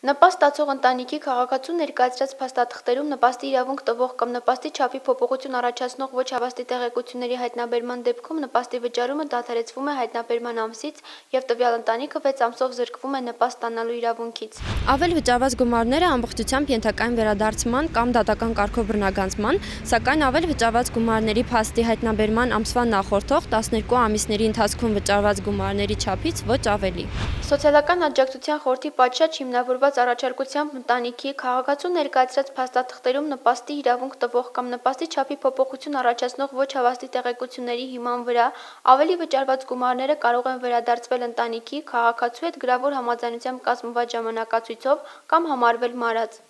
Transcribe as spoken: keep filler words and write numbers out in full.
Նպաստ ստացող ընտանիքի քաղաքացու ներկայացրած փաստաթղթերում նպաստի իրավունք տվող կամ նպաստի չափի փոփոխություն առաջացնող ոչ հավաստի տեղեկությունների հայտնաբերման դեպքում նպաստի վճարումը դադարեցվում է հայտնաբերման ամսից և տվյալ ընտանիքը վեց ամսով զրկվում է նպաստ ստանալու իրավունքից։ Ավել վճարված գումարները ամբողջությամբ ենթակա են վերադարձման կամ դատական կարգով բռնագանձման, սակայն ավել վճարված գումարների փաստի հայտնաբերման ամսվա նախորդող տասներկու ամիսների ընթացքում վճարված գումարների չափից ոչ ավելի։ Սոցիալական աջակցության խորհրդի պատշաճ հիմնավորված առաջարկությամբ ընտանիքի քաղաքացու ներկայացրած փաստաթղթերում նպաստի իրավունք տվող կամ նպաստի չափի փոփոխություն առաջացնող ոչ հավաստի տեղեկությունների հիման վրա ավելի վճարված գումարները կարող են վերադարձվել ընտանիքի քաղաքացու հետ գրավոր համաձայնությամբ կազմված ժամանակացույցով կամ համարվել մարած։